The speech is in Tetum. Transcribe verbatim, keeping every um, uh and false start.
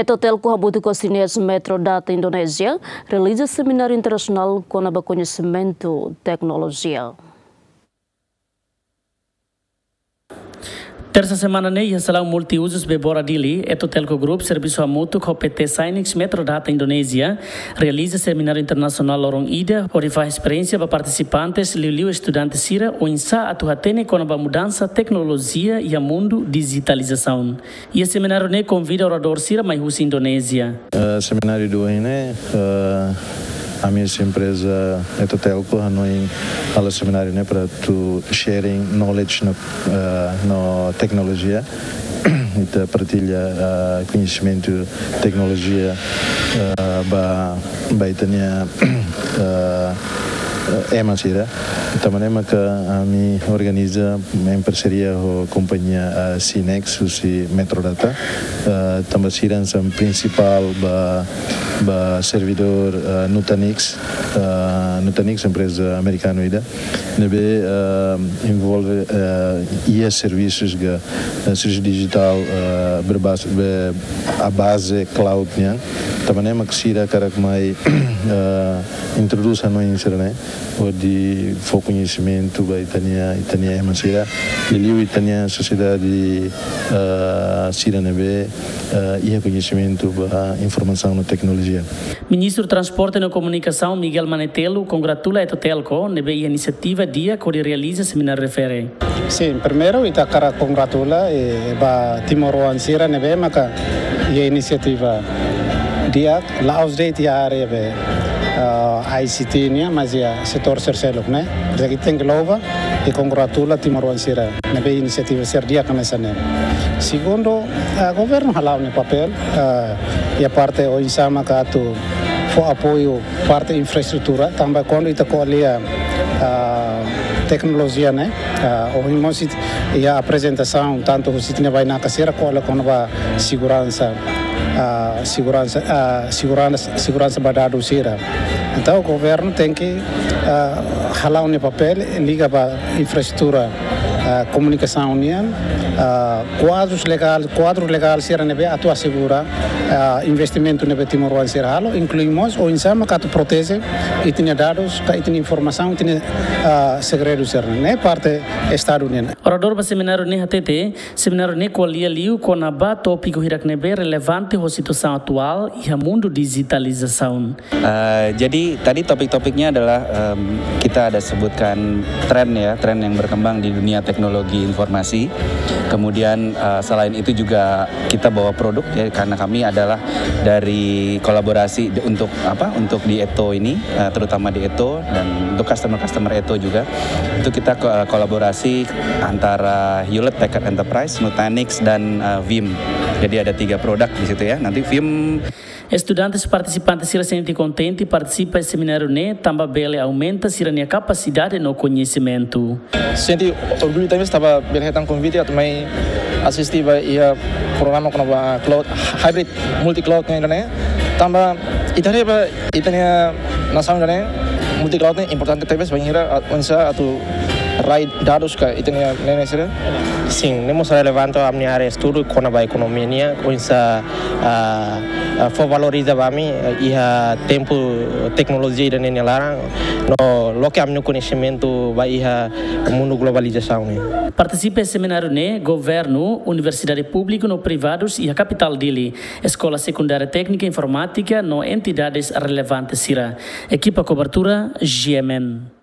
Etotelco hamutuk ho Sinex Metrodata Indonézia realiza semináriu internasionál kona-ba koñesimentu teknolojia. Tersa semana ne'e, iha salaun multiuzus Bebora Dili, Etotelco Group servisu hamutuk ho P T Sinex Metrodata Indonézia realiza semináriu internasionál loron ida, hodi fahe esperiénsia ba partisipantes, liuliu estudante sira, oinsá atu hatene kona-ba mudansa teknolojia iha mundu dijitalizasaun. Iha semináriu ne'e konvida oradór sira mai husi Indonézia. Eh, semináriu ida ohin ne'e, eh, ami husi empreza Etotelco hanoin halo semináriu ne'e para atu sharing knowledge no, eh, no teknolojia. Ita partilla, eh, koñesimentu teknolojia, eh, ba, ba ita-nia, eh, eh, ema sira. Tanba ne'e maka ami organiza em parceria ho kompañia, eh, Sinex, husi Metrodata. Eh, tanba sira hanesan prinsipál ba, ba servidór, eh, Nutanix. Eh, Nutanix empreza amerikanu ida ne'ebé, eh, envolve, eh, iha servisus ka, eh, servisu dijitál, eh, berbas-, be-, à base cloud nian. Tanba ne'e mak sira hakarak mai, eh, introdús hanoin sira-ne'e, hodi fó koñesimentu ba ita-nia, ita-nia ema sira, liuliu ita-nia sosiedade, eh, sira ne'ebé, eh, iha koñesimentu ba informasaun no teknolojia. Ministru Transporte no Komunikasaun Miguel Manetelu kongratula Etotelco ne'ebé iha inisiativa di'ak hodi realiza semináriu refere. Sin, primeiru ita hakarak kongratula, eh, ba timoroan sira ne'ebé maka iha inisiativa di'ak, la'ós de'it iha área be, ah, I C T nian, mas iha setór sira seluk ne'e. Jadi tenke louva i kongratula timoroan sira ne'ebé inisiativa sira di'ak hanesan ne'e. Segundu, ah, governu hala'o nia papél, ah, iha parte oinsá maka atu fó apoiu parte infraestrutura, tanba kuandu ita ko'alia, ah, teknolojia ne'e, ah, ohin mós iha aprezentasaun, tantu husi ita-nia bainaka sira ko'alia kona-ba seguransa, ah, seguransa, ah, seguransa, seguransa ba dadus sira. Entaun, governu tenke, ah, hala'o nia papél liga ba infraestrutura, ah, komunikasaun nian, ah, kuadrus legál, kuadru legál sira ne'ebé atu asegura, ah, investimentu ne'ebé timoroan sira halo, inklui mós oinsá maka atu proteje ita-nia dadus, ka ita-nia informasaun, ita-nia, ah, segredu sira. Ne'e parte Estadu nian. Oradór ba semináriu ne'e hatete, semináriu ne'e ko'alia liu kona-ba tópiku hirak ne'ebé relevante ho situasaun atuál iha mundu dijitalizasaun. Eh, jadi tadi topik-topiknya adalah, em, kita ada sebutkan tren ya, tren yang berkembang di dunia teknologi informasi. Kemudian, eh, selain itu juga kita bawa produk ya, karena kami adalah dari kolaborasi di, untuk apa, untuk di Eto ini, eh, terutama di Eto dan untuk customer-customer Eto juga. Itu kita ko-, kolaborasi antara Hewlett Packard Enterprise, Nutanix, dan, eh, Veeam. Jadi ada tiga produk di situ ya. Nanti Veeam Estudantes partisipantes sira sente kontente partisipa iha semináriu ne'e, tanba bele aumenta sira-nia kapasidade no koñesimentu. Sente orgullu tanba ita bele hetan konvite atu mai asiste ba iha programa kona-ba cloud hybrid, multi cloud ne'e ida-ne'e. Tanba ita haree ba ita-nia nasaun ida-ne'e, multi cloud ne'e importante tebes bainhira, ah, oinsá atu rai dadus ka ita-nia ne'e sira. Sin, ne'e mós relevante ami-nia área estudu kona-ba ekonomia nian, oinsá, ah, ah, fó valoriza ba ami, ah, iha tempu teknolojia ida-ne'e nia laran, no loke ami-nia koñesimentu ba iha mundu globalizasaun ne'e. Partisipa iha semináriu ne'e governu, universidade públiku no privadus iha kapitál Dili, eskola sekundária téknika informátika no entidades relevante sira. Ekipa kobertura, G M N.